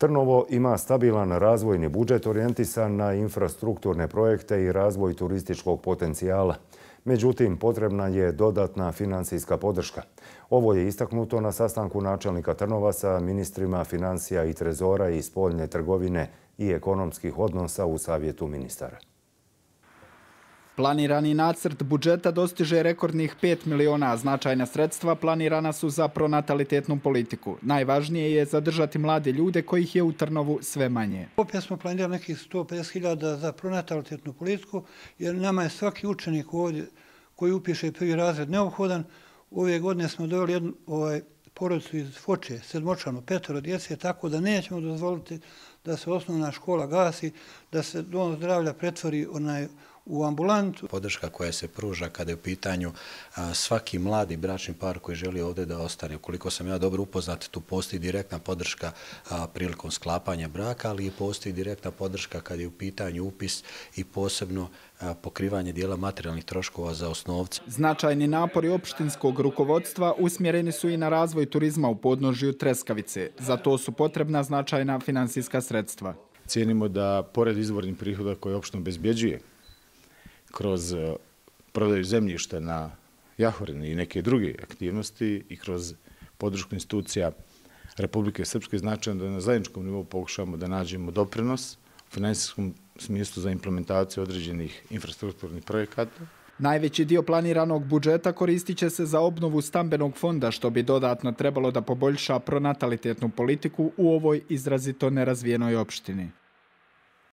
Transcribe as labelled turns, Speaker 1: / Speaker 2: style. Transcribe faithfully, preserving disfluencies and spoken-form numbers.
Speaker 1: Trnovo ima stabilan razvojni budžet orijentisan na infrastrukturne projekte i razvoj turističkog potencijala. Međutim, potrebna je dodatna financijska podrška. Ovo je istaknuto na sastanku načelnika Trnova sa ministrima financija i trezora i spoljne trgovine i ekonomskih odnosa u Savjetu ministara.
Speaker 2: Planirani nacrt budžeta dostiže rekordnih pet miliona, a značajna sredstva planirana su za pronatalitetnu politiku. Najvažnije je zadržati mlade ljude kojih je u Trnovu sve manje.
Speaker 3: Opet smo planirali nekih sto pedeset hiljada za pronatalitetnu politiku, jer nama je svaki učenik ovdje koji upiše prvi razred neophodan. Ove godine smo doveli jednu ovaj, porodicu iz Foče, sedmočlanu, petoro djece, tako da nećemo dozvoliti da se osnovna škola gasi, da se dom zdravlja pretvori onaj u ambulantu.
Speaker 4: Podrška koja se pruža kada je u pitanju a, svaki mladi bračni par koji želi ovdje da ostane. Ukoliko sam ja dobro upoznat, tu postoji direktna podrška a, prilikom sklapanja braka, ali i postoji direktna podrška kada je u pitanju upis i posebno a, pokrivanje dijela materijalnih troškova za osnovce.
Speaker 2: Značajni napori opštinskog rukovodstva usmjereni su i na razvoj turizma u podnožju Treskavice. Za to su potrebna značajna finansijska sredstva.
Speaker 5: Cijenimo da pored izvornih prihoda koje opština obezbjeđuje kroz prodaju zemljišta na Jahorini i neke druge aktivnosti i kroz podršku institucija Republike Srpske, značajno da na zajedničkom nivou pokušamo da nađemo doprinos u finansijskom smislu za implementaciju određenih infrastrukturnih projekata.
Speaker 2: Najveći dio planiranog budžeta koristit će se za obnovu stambenog fonda, što bi dodatno trebalo da poboljša pronatalitetnu politiku u ovoj izrazito nerazvijenoj opštini.